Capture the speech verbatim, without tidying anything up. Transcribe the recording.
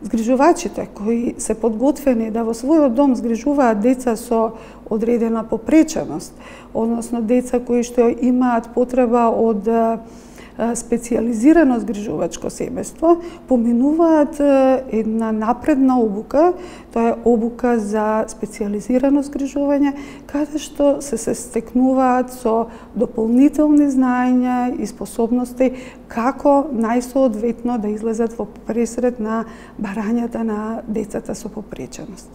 Згрижувачите кои се подготвени да во својот дом згрижуваат деца со одредена попреченост, односно деца кои што имаат потреба од специјализирано згрижувачко семејство, поминуваат една напредна обука, тоа е обука за специјализирано згрижување, каде што се се стекнуваат со дополнителни знаења и способности како најсоодветно да излезат во пресред на барањата на децата со попреченост.